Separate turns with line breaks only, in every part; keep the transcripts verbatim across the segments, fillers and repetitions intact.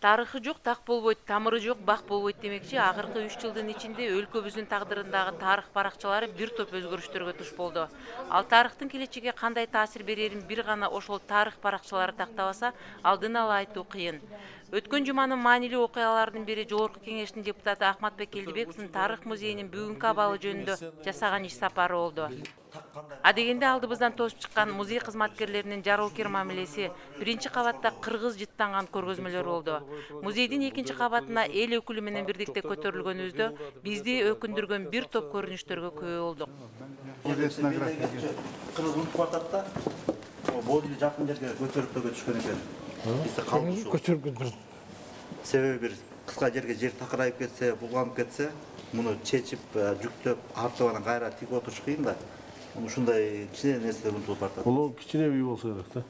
Тарыхы жок так болбойт, тамыры жок бак болбойт демекчи, акыркы үч жылдын ичинде өлкөбүздүн тагдырындагы тарых баракчалары бир топ өзгөрүштөргө туш болду. Ал тарыхтын келечекке кандай таасир берерин бир гана ошол тарых баракчалары тактабаса, алдын ала айтуу кыйын. Өткөн жуманын маанилүү окуяларынын бири Жогорку Кеңештин депутаты Акматбек Келдибековдун Тарых музейинин бүгүнкү абалы жөнүндө жасаган иш сапары болду. Адегенде алдыбыздан тосуп чыккан музей кызматкерлеринин жароокер мамилеси, биринчи кабатта кыргыз жыттанган көргөзмөлөр болду. Музейдин экинчи кабатына эл өкүлү менен бирдикте көтөрүлгөнүбүздө бизди өкүндүргөн бир топ көрүнүштөргө күбө болдук.
Кыргыз унутуп атат да, бойлуу жакын жерге көтөрүп төгө түшкөн экен. Бизде калды ушул. Себеби бир кыска жерге жер такырайып кетсе, булганып кетсе, муну чечип, жүктөп, артып анан кайра тигип отуруш кыйын да. Ушундай кичине нерселер унутулуп баратат.
Бул кичине үй болсо керек да.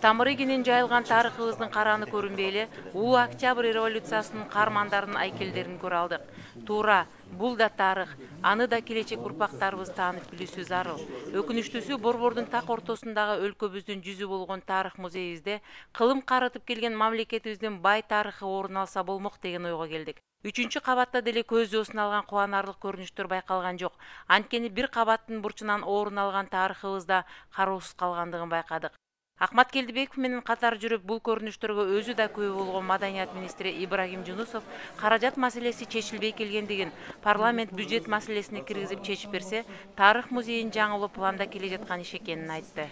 Тамыры кенен жайылган тарыхыбыздын караны көрүнбөй эле, улуу Октябрь революциясынын каармандарынын айкелдерин көрө алдык. Туура, бул да тарых, аны да келечек урпактарыбыз таанып билүүсү зарыл. Өкүнүчтүүсү, Борбордун так ортосундагы өлкөбүздүн жүзү болгон тарых музейибизде кылым карытып келген мамлекетибиздин бай тарыхы орун алса болмок деген ойго келдик. Үчүнчү кабатта деле көз жоосун алган кубанарлык көрүнүштөр байкалган жок. Анткени бир кабаттын бурчунан орун алган тарыхыбызда кароосуз калгандыгын байкадык. Акмат Келдибеков менен катар жүрүп бул көрүнүштөргө өзү да күбө болгон Маданият министри Ибрагим Жунусов каражат маселеси чечилбей келгендигин, парламент бюджет маселесине киргизип чечип берсе, тарых музейин жаңылоо планда келе жаткан иш экенин айтты.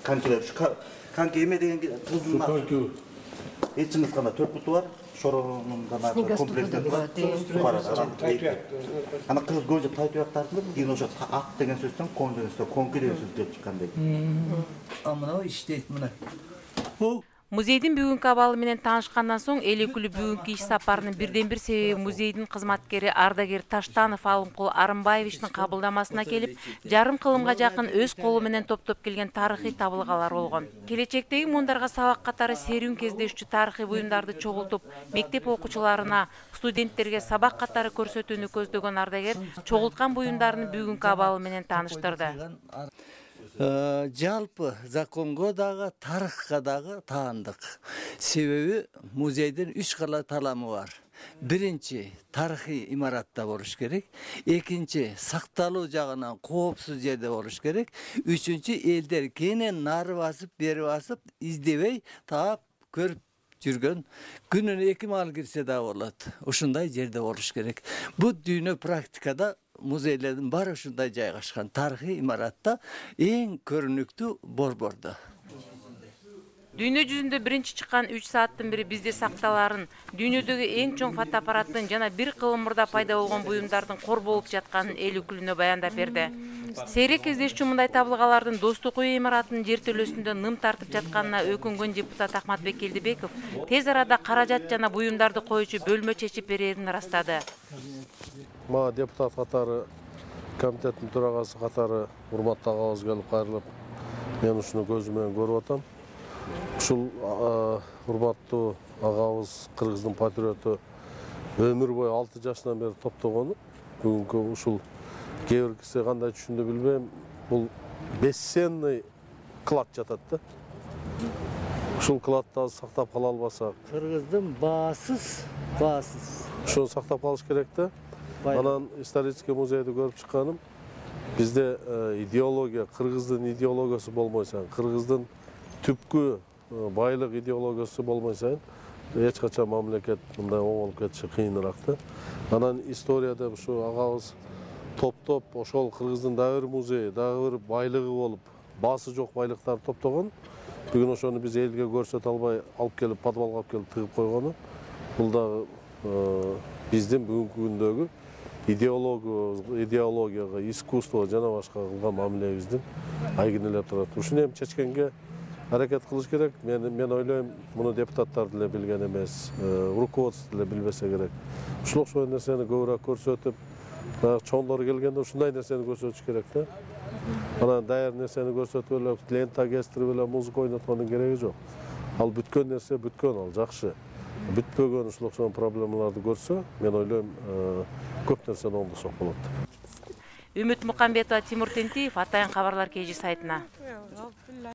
Канкелер, канке эме деген кызын эч чыңгыз кандай төрт буту бар. Шоронун гана комплекттен бар. Ана кыргыз көжө тайтыяктарды деген ошо ат деген сөздөн кон деген сөз, конки деген сөз келип чыккандай.
А мына иштейт мына.
Музейдин бүгүнкү абалы менен таанышкандан соң эл өкүлү бүгүнкү иш сапарынын бирден бир себеби музейдин кызматкери ардагер Таштанов Алымкул Арымбаевичтин кабылдамасына келип, жарым кылымга жакын өз колу менен топтоп келген тарыхый табылгалар болгон. Келечектеги муундарга сабак катары серүүн кездешчү тарыхый буюмдарды чогултуп, мектеп окуучуларына, студенттерге сабак катары көрсөтүүнү көздөгөн ардагер чогулткан буюмдардын бүгүнкү абалы менен тааныштырды.
Жалпы законго дагы, тарыхка дагы таандык. Себеби музейдин үч кала таламы бар. Биринчи, тарыхый имаратта болуш керек. Экинчи, сакталуу жагынан коопсуз жерде болуш керек. Үчүнчү, элдер кенен нары басып, бери басып, издебей, таап, көрүп жүргөн, күнүнө эки маал кирсе да болот. Ушундай жерде болуш керек. Бул дүйнө практикада музейлердин баары ушундай жайгашкан. Тарыхый имаратта эң көрүнүктүү борбордо.
Дүйнө жүзүндө биринчи чыккан үч сааттын бири бизде сакталарын, дүйнөдөгү эң чоң фотоаппараттын жана бир кылымырда пайда болгон буюмдардын кор болуп жатканын эл өкүлүнө баяндап берди. Сейрек кездешчү мындай табылгалардын Достук үй имаратынын жертөлөсүндө ным тартып жатканына өкүнгөн депутат Акматбек Келдибеков тез арада каражат жана буюмдарды коюучу бөлмө чечип берерин ырастады.
Ма депутат катары, комитеттин төрагасы катары урматтуу агабыз келип кайрылып, мен ушуну көзүм менен көрүп атам. Ушул урматтуу агабыз, кыргыздын патриоту, өмүр бою алты жашынан бери топтогону, бүгүнкү ушул кээ бир киши кандай түшүндү билбейм, бул бесценный клад жатат да. Ушул кладды сактап кала албасак,
Кыргыздын баасыз, баасыз.
Ушуну сактап калыш керек да. Анан исторический музейди көрүп чыкканым, бизде идеология, кыргыздын идеологиясы болмой сайын, кыргыздын түпкү байлык идеологиясы болмой сайын, эч качан мамлекет мындай оңолуп кетиши кыйыныраак да. Анан историяда ушу агабыз топтоп, ошол кыргыздын дагы бир музейи, дагы бир байлыгы болуп, баасы жок байлыктарды топтогон. Бүгүн ошону биз элге көрсөтө албай алып келип, подвалга алып келип тыгып койгону, бул дагы биздин бүгүнкү күндөгү идеологияга, искусствого жана башка кылган мамилебиздин айгинелеп турат. Ушуну эми чечкенге аракет кылыш керек. Мен мен ойлойм, муну депутаттар деле билген эмес, руководство деле билбесе керек. Ушул окшогон нерсени көбүрөөк көрсөтүп, баягы чоңдор келгенде ушундай нерсени көрсөтүш керек да. Анан даяр нерсени көрсөтүп эле, лента кестирип эле, музыка ойноткондун кереги жок. Ал бүткөн нерсе бүткөн, ал жакшы. Бүтпөгөн ушул окшогон проблемаларды көрсө, мен ойлойм, көп нерсени оңдосок болот.
Үмүт Мукамбетова, Тимур Тентиев, Атайын кабарлар кей жи сайтына.